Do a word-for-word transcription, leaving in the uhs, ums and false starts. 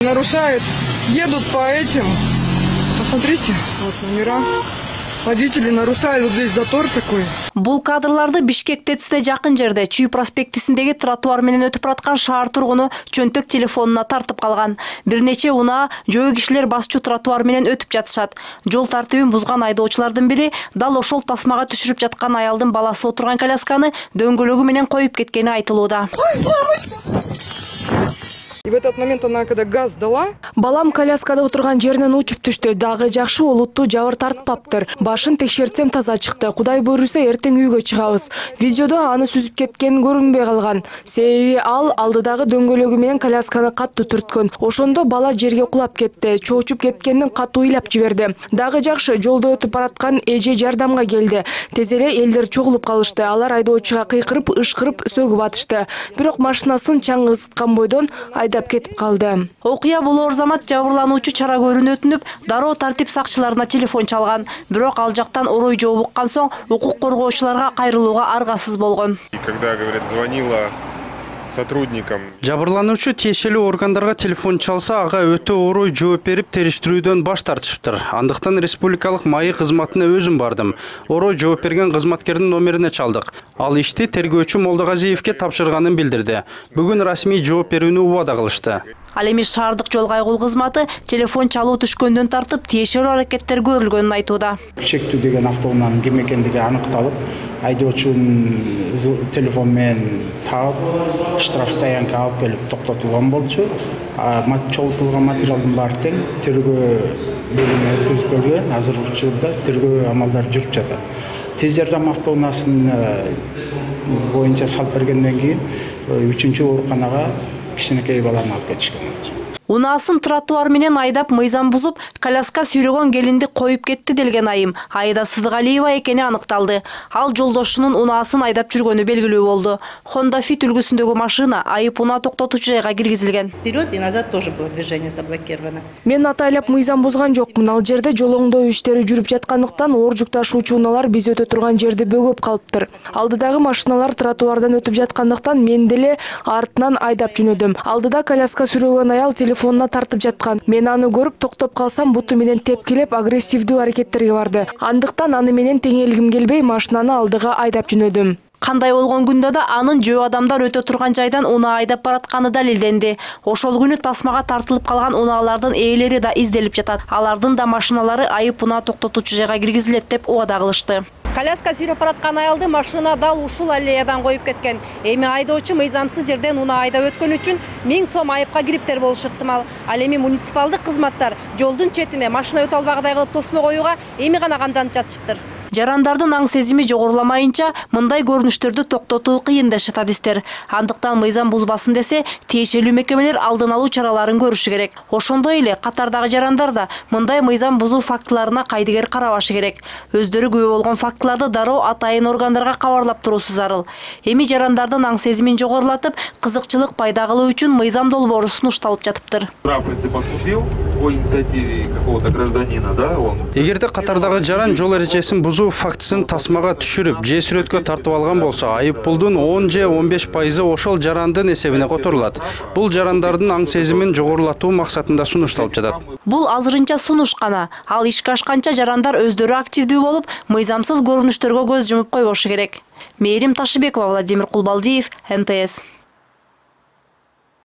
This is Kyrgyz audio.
Нарушают, едут по этим. Посмотрите, вот номера. Водители нарушают, вот здесь затор такой. Бул кадрларды Бишкек ТЭЦте жакын жерде Чүй проспектисиндеги тротуар менен өтүп бараткан шаар тургуну чөнтөк телефонуна тартып калган. Бир нече унаа жөө кишилер басчу тротуар менен өтүп жатышат. Жол тартибин бузган айдоочулардын бири дал ошол тасмага түшүрүп жаткан аялдын баласы отурган колясканы дөңгөлөгү менен коюп кеткени айтылууда. И в этот момент она, когда газ дала, балам коляскада отурган жеринен учуп түштү. Дагы жакшы олуттуу жабыр тартпаптыр. Башын текшертсем таза чыкты. Кудай буйруса эртең үйгө чыгабыз. Видеодо аны сүзүп кеткен көрүнбөй калган. Себеби ал алдыдагы дөңгөлөгү менен колясканы каттуу түрткөн. Ошондо бала жерге кулап кетти. Чоочуп кеткендин катуу ыйлап жиберди. Дагы жакшы жолдо өтүп бараткан эже жардамга келди. Тез эле элдер чогулуп калышты. Алар айдоочуга кыйкырып, ышкырып сөгүп атышты. Бирок машинасын чаң ысыткан бойдон айдап кетип калды. Окуя болоор замат жабырлануучу чара көрүүнү өтүнүп, дароо тартип сакчыларына телефон чалган. Бирок ал жактан орой жооп уккан соң укук коргоочуларга кайрылууга аргасыз болгон. Когда, говорят, звонила сотрудникам. Жабырлануучу тиешелүү органдарга телефон чалса, ага өтө орой жооп берип териштирүүдөн баш тартышыптыр. Андыктан республикалык МАИ кызматына өзүм бардым. Орой жооп берген кызматкердин номерине чалдык. Ал ишти тергөөчү Молдогазиевке тапшырганын билдирди. Бүгүн расмий жооп берүүнү убада кылышты. Ал эми шаардык жол кайгыл кызматы телефон чалуу түшкөндөн тартып тиешелүү аракеттер көрүлгөнүн айтууда. Чектүү деген автоунаанын ким экендиги аныкталып, айдоочунун телефон менен таап, штраф стоянка алып келип токтотулган болчу. Чогултулган материалдын баары тең тергөө бөлүмүнө өткөзүп келген. Азыр учурда тергөө амалдары жүрүп жатат. Тез жардам автоунаасын боюнча салып бергенден кийин үчүнчү ооруканага кичинекей баланы алып кетишкен болчу. Унаасын тротуар менен айдап мыйзам бузуп, коляска сүйрөгөн келинди коюп кетти делген айым Аида Сыдыгалиева экени аныкталды. Ал жолдошунун унаасын айдап жүргөнү белгилүү болду. Honda Fit үлгүсүндөгү машина айып унаа токтотуучу жайга киргизилген. Вперед и назад тоже было движение заблокировано. Мен атайлап мыйзам бузган жокмун. Ал жерде жол оңдоо иштери жүрүп жаткандыктан оор жүк ташуучу унаалар биз өтө турган жерди бөгөп калыптыр. Алдыдагы машиналар тротуардан өтүп жаткандыктан мен деле артынан айдап жөнөдүм. Алдыда коляска сүрөгөн аял телефонуна тартып жаткан. Мен аны көрүп токтоп калсам буту менен тепкилеп агрессивдүү аракеттерге барды. Андыктан аны менен теңелгим келбей машинаны алдыга айдап жөнөдүм. Кандай болгон күндө да анын жөө адамдар өтө турган жайдан унаа айдап баратканы далилденди. Ошол күнү тасмага тартылып калган унаалардын ээлери да изделип жатат. Алардын да машиналары айып унаа токтотуучу жайга киргизилет деп убада кылышты. Коляска сүйрөп бараткан аялды машина дал ушул аллеядан коюп кеткен. Эми айдоочу мыйзамсыз жерден унаа айдап өткөн үчүн миң сом айыпка кириптер болушу ыктымал. Ал эми муниципалдык кызматтар жолдун четине машина өтө албагыдай кылып тосмо коюуга эми гана камданып жатышыптыр. Жарандардын аң сезими жогоруламайынча мындай көрүнүштөрдү токтотуу кыйын дешет адистер. Андыктан мыйзам бузбасын десе, тиешелүү мекемелер алдын алуу чараларын көрүшү керек. Ошондой эле катардагы жарандар да мындай мыйзам бузуу фактыларына кайдыгер карабашы керек. Өздөрү күбө болгон фактыларды дароо атайын органдарга кабарлап туруусу зарыл. Эми жарандардын аң сезимин жогорулатып, кызыкчылык пайда кылуу үчүн мыйзам долбоору сунушталып жатыптыр. Эгерде катардагы жаран жол эрежесин бузуу фактысын тасмага түшүрүп, же сүрөткө тартып алган болсо, айып пулдун он же он беш пайызы ошол жарандын эсебине которулат. Бул жарандардын аң сезимин жогорулатуу максатында сунушталып жатат. Бул азырынча сунуш гана. Ал ишке ашканча жарандар өздөрү активдүү болуп, мыйзамсыз көрүнүштөргө көз жумуп койбошу керек. Мээрим Ташыбекова, Владимир Кулбалдиев, эн тэ эс.